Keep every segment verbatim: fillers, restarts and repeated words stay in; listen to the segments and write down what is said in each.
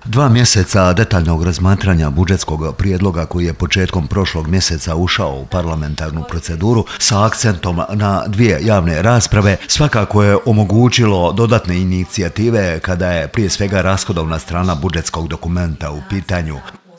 Dva mjeseca detaljnog razmatranja budžetskog prijedloga koji je početkom prošlog mjeseca ušao u parlamentarnu proceduru sa akcentom na dvije javne rasprave svakako je omogućilo dodatne inicijative kada je prije svega rashodovna strana budžetskog dokumenta u pitanju.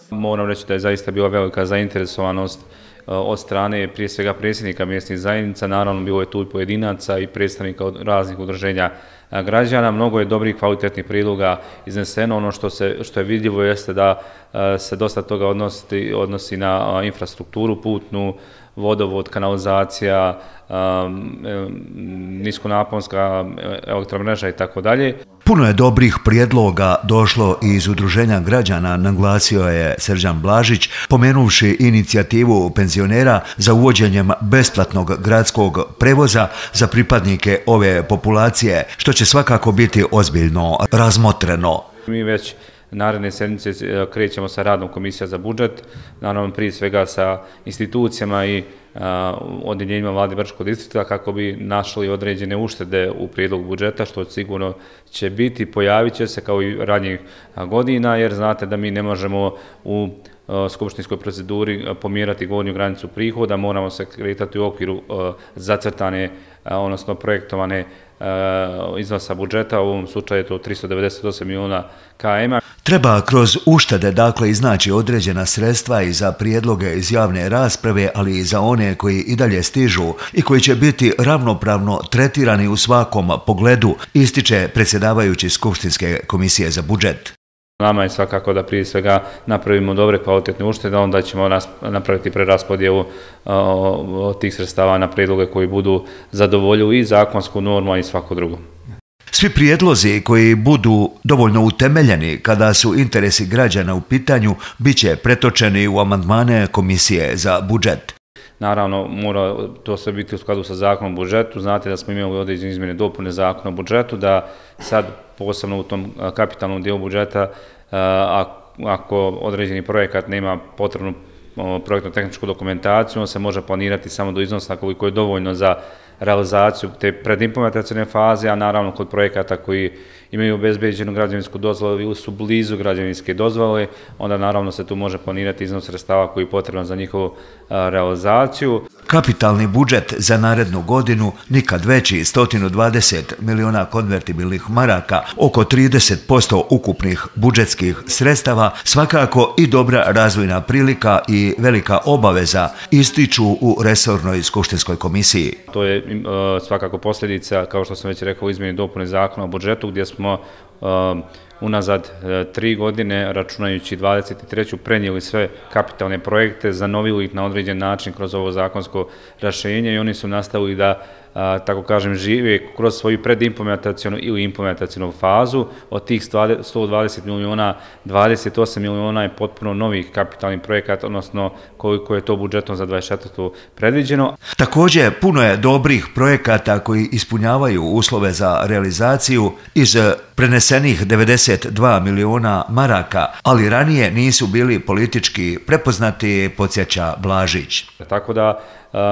Moram reći da je zaista bila velika zainteresovanost od strane prije svega predsjednika mjesnih zajednica, naravno bilo je tu i pojedinaca i predstavnika od raznih udruženja građana. Mnogo je dobrih kvalitetnih prijedloga izneseno. Ono što, se, što je vidljivo jeste da se dosta toga odnosi, odnosi na infrastrukturu putnu, vodovod, kanalizacija, niskonaponska elektromreža i tako dalje. Puno je dobrih prijedloga došlo iz udruženja građana, naglasio je Srđan Blažić, pomenuvši inicijativu penzionera za uvođenjem besplatnog gradskog prevoza za pripadnike ove populacije, što će svakako biti ozbiljno razmotreno. Mi već naredne sedmice krećemo sa radom Komisija za budžet, naravno prije svega sa institucijama i odjeljenjima vlade Brčkog distrikta kako bi našli određene uštede u prijedlogu budžeta, što sigurno će biti, pojavit će se kao i ranijih godina, jer znate da mi ne možemo u skupštinskoj proceduri pomjerati gornju granicu prihoda, moramo se kretati u okviru zacrtane, odnosno projektovane iznosa budžeta, u ovom slučaju je to tristo devedeset osam milijuna km. Treba kroz uštede dakle iznaći određena sredstva i za prijedloge iz javne rasprave, ali i za one koji i dalje stižu i koji će biti ravnopravno tretirani u svakom pogledu, ističe predsjedavajući Skupštinske komisije za budžet. Nama je svakako da prije svega napravimo dobre kvalitetne uštede, onda ćemo napraviti preraspodjelu tih sredstava na prijedloge koji budu zadovoljuju i zakonsku normu i svako drugo. Svi prijedlozi koji budu dovoljno utemeljeni kada su interesi građana u pitanju bit će pretočeni u amandmane Komisije za budžet. Naravno, mora to sve biti u skladu sa zakonom o budžetu. Znate da smo imali određene izmjene dopune zakona o budžetu, da sad posebno u tom kapitalnom dijelu budžeta, ako određeni projekat nema potrebnu projektno-tehničku dokumentaciju, on se može planirati samo do iznosa koliko je dovoljno za realizaciju te predimplementacione faze, a naravno kod projekata koji imaju obezbeđenu građevinsku dozvolu ili su blizu građevinske dozvole, onda naravno se tu može planirati iznos sredstava koji je potreban za njihovu realizaciju. Kapitalni budžet za narednu godinu nikad veći, sto dvadeset milijuna konvertibilnih maraka, oko trideset posto ukupnih budžetskih sredstava, svakako i dobra razvojna prilika i velika obaveza, ističu u resornoj Skupštinskoj komisiji. To je svakako posljedica, kao što sam već rekao, izmjeni dopune zakona o budžetu, gdje smo unazad tri godine, računajući dvadeset treću prenijeli sve kapitalne projekte, zanovili ih na određen način kroz ovo zakonsko rješenje i oni su nastavili da, tako kažem, žive kroz svoju predimplementacionu ili implementacionu fazu. Od tih sto dvadeset milijuna, dvadeset osam milijuna je potpuno novih kapitalnih projekata, odnosno koliko je to budžetom za dvadeset četvrtu predviđeno. Također, puno je dobrih projekata koji ispunjavaju uslove za realizaciju iz prenesenih devedeset dva milijuna maraka, ali ranije nisu bili politički prepoznati, podsjeća Blažić. Tako da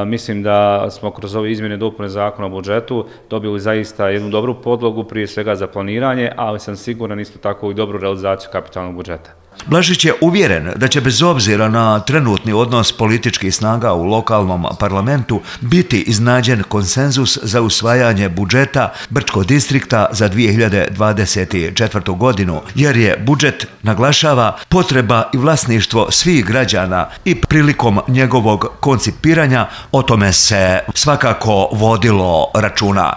mislim da smo kroz ove izmjene dopune zakona o budžetu dobili zaista jednu dobru podlogu prije svega za planiranje, ali sam siguran isto tako i dobru realizaciju kapitalnog budžeta. Blažić je uvjeren da će bez obzira na trenutni odnos političkih snaga u lokalnom parlamentu biti iznađen konsenzus za usvajanje budžeta Brčkog distrikta za dvije hiljade dvadeset četvrtu godinu, jer je budžet, naglašava, potreba i vlasništvo svih građana i prilikom njegovog koncipiranja o tome se svakako vodilo računa.